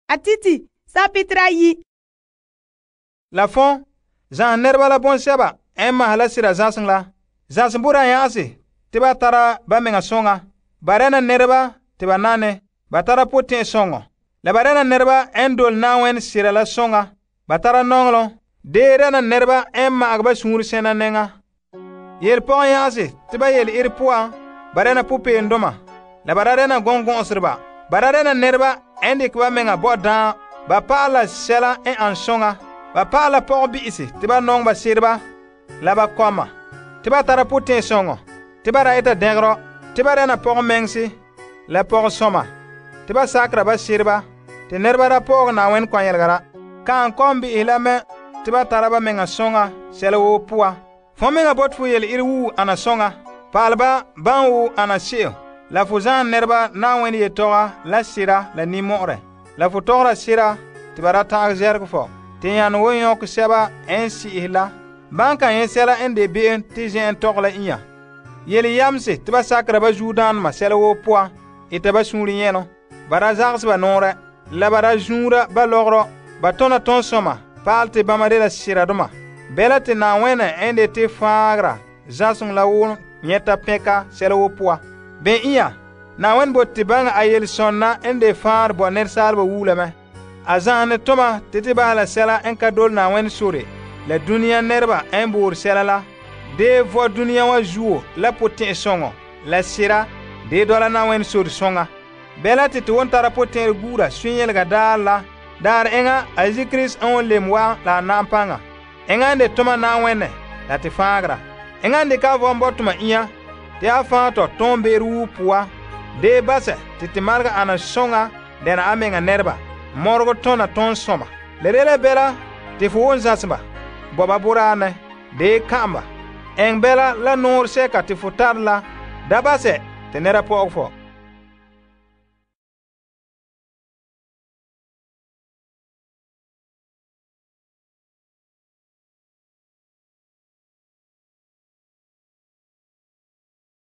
Atiti sapitra yi. La fon, zan nerba la bonsɛba n maha la sira zanseŋ la. Zanseŋ boraa yãgese te ba tara ba mɛŋa soŋa. Ba dɛna nɛreba te ba nane. Ba tara potɛn'ɛrɛ. La ba dɛna nɛreba n dole Na'ayenɛ sera la soŋa. Ba tara nɔŋɔlom. Dee dɛna nɛreba n ma'agɛ ba suunre sɛna nɛŋa. Yelpɔgɔn yãgese te ba yele ire poan ba dɛna popeelomdoma. La ba da dɛna gɔngɔn'ɔnsereba. Ba da dɛna nɛreba n dekɛ ba mɛŋa bo daam. Ba pa'ala la sɛla n ane soŋa. Ba pa'ala la pɔgɔbi'isi te ba nɔŋɛ ba sereba la ba kɔma. Te ba tara potɛn'ɛrɛ. Te ba da eta dɛngerɔ. Te ba dɛna pɔgɔmɛŋse la pɔgɔsɔma. Te ba sakera ba sereba. Te nɛreba da pɔgɛ Na'ayenɛ kɔnyelegara. Kaan kɔmbi'isi la mɛ te ba tara ba mɛŋa soŋa sɛla woo poan. Fon mɛŋa bote fo yele ire woo ana soŋa. Pa'alɛ ba ban woo ana se'em. La fo zaan nɛreba Na'ayenɛ yetɔga la sera la ninmɔ'ɔrɛ. La fo tɔgɔra sera te ba da ta'an zɛrɛgɛ fɔ. Te yãna wo nyɔkɛ sɛba n si'ihɛ la. Ban kan nyɛ sɛla n de be'em te zen'en tɔgɛ la inya. Yele yamse te ba sakera ba zuodaanema sɛla woo poan. Eta ba suunre nyɛlom. Ba da zagese ba nɔɔrɛ. La ba da zuura ba lɔgɔrɔ. Ba tɔna tɔnsɔma pa'alɛ te bama dela seradoma. Bɛla te Na'ayenɛ n de te faagera zanseŋ la woo nyɛta pɛnka sɛla woo poan. Bɛn inya, Na'ayenɛ bote te baŋɛ a yelesɔnna n de faanrɛ bo nɛresaaleba wuula mɛ. A zahene toma te bahɛ la sɛla n ka dole Na'ayenɛ sore la dunia nɛreba n boore sɛla la. Dee vɔ dunia wa zuo la potɛn'ɛrɛ la sera dee dɔla Na'ayenɛ sore soŋa. Bɛla te won tara potɛn'ɛrɛ guura sunyɛlega daar la. Daar eŋa a Krista n won lem wa'an la a na'am paŋa. Eŋa n de toma Na'ayenɛ la te faagera. Eŋa n de ka vɔn bo toma inya te a fãa tɔ tõon be'er wuu poan. Dee basɛ te marega ana soŋa dɛna a mɛŋa nɛreba. Mɔregɔ tɔna tɔnsɔma. Le dela bɛla te fo won zãse ba. Bo ba boraanɛ. Dee ka'am ba. Eŋ bɛla la nɔɔrɛ sɛka te fo tare la. Da basɛ te nɛra pɔgɛ fɔ.